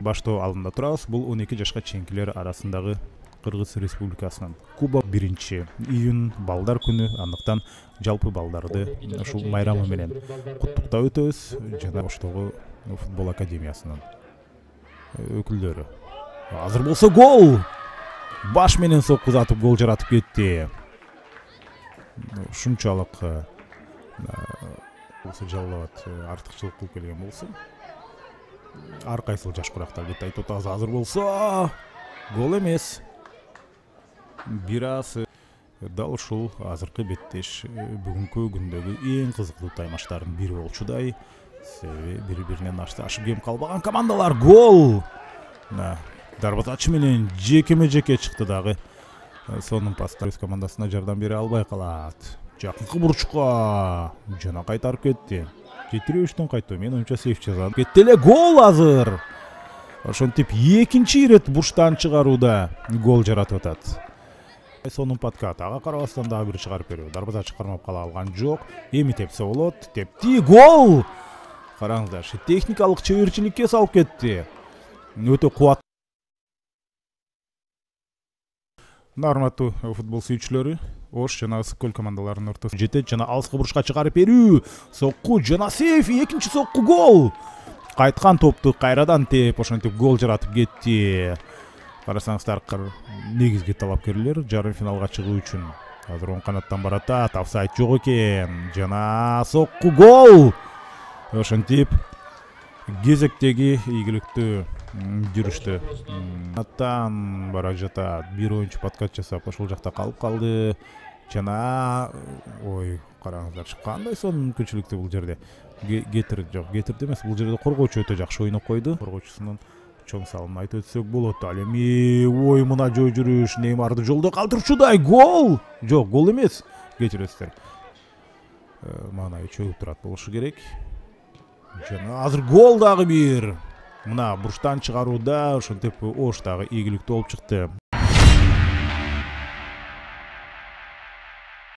Баштоо алдында турабыз. Бул 12 жашка чейинкилер арасындагы Кыргыз Республикасынын Кубок 1-июнь балдар күнү. Андыктан жалпы балдарды ушул майрамы менен куттуктап өтөбүз. Жана Оштогу футбол академиясынын өкүлдөрү. Азыр болсо гол! Баш менен соккузатып гол жаратып кетти. Ушунчалык болсо жалалабат артыкчылык кылып келген болсо. Ар кайсыл жаш курактар деп айтып атабыз. Азыр болсо гол эмес. Бир аз дал ушул азыркы беттеш бүгүнкү күндөгү эң кызыктуу таймаштардын бири болчудай. Себеби бири-биринен ашып кем калбаган командалар гол. Дарбазачы менен жекеме-жеке чыкты дагы. Сонун паста өз командасына жардам бере албай калат. Жакынкы бурчка жана кайтарып кетти. Жетирүүчтөн кайтуу. Мен оюнчу сейф жазат. Кетти эле гол азыр. Ошентип экинчи ирет бурчтан чыгарууда гол жаратып атат. Сонун подкат. Ага карабастан дагы бир чыгарып берүү. Дарбазачы кармап кала алган жок. Эми тепсе болот. Тепти гол. Караңыздарчы, техникалык чеберчиликке салып кетти. Өтө кубат. Урматтуу футбол сүйүүчүлөрү, Ош жана Ысык көл командаларынын ортосуна жетет жана алыскы бурчка чыгарып берүү. Сокку жана сейф, экинчи сокку гол. Кайткан топту кайрадан теп, ошентип гол жаратып кетти. Карасаңыздар, негизги талапкерлер жарым финалга чыгуу үчүн азыр оң канаттан баратат. Офсайд жок экен. Жана сокку гол. Ошентип кезектеги ийгиликтүү жүрүштү аттан бара жатат. Бир оюнчу подкат жасап ошол жакта калып калды. Жана ой, караңыздарчы, кандай сонун мүмкүнчүлүктүү бул жерде. Гетерди эмес, бул жерде коргоочу өтө жакшы ойноп койду. Коргоочусунун чоң салымын айтып өтсөк болот. Ал эми ой, мына жөө жүрүш Неймарды жолдо калтырчудай гол. Жок, гол эмес. Кечиресиздер. Мана чөгүп турат болушу керек. Жана азыр гол дагы бир. Мына бурчтан чыгарууда ошентип Ош дагы ийгиликтүү болуп чыкты.